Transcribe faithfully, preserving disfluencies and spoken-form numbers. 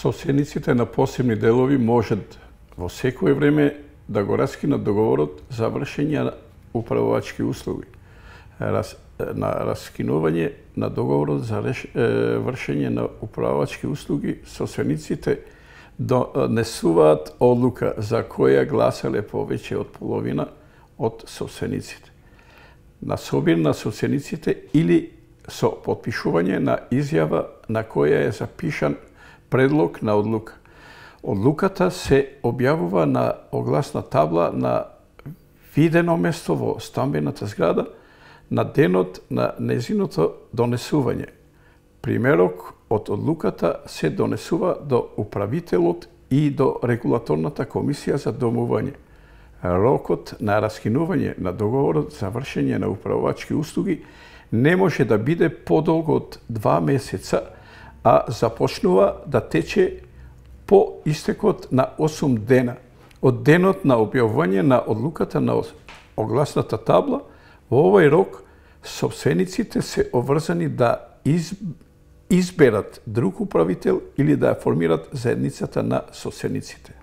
Собствениците на посебни делови можат во секое време да го раскинат договорот за вршење на управувачки услуги. Раз, на раскинување на договорот за реш, е, вршење на управувачки услуги, собствениците донесуваат одлука за која гласале повеќе од половина од собствениците. На собир на собствениците или со потпишување на изјава на која е запишан предлог на одлука. Одлуката се објавува на огласна табла на видено место во стамбената зграда на денот на незиното донесување. Примерок од одлуката се донесува до управителот и до регулаторната комисија за домување. Рокот на раскинување на договорот за вршење на управувачки услуги не може да биде подолго од два месеца, а започнува да тече по истекот на осум дена од денот на објавување на одлуката на огласната табла. Во овој рок собствениците се обврзани да из... изберат друг управител или да формират заедницата на собствениците.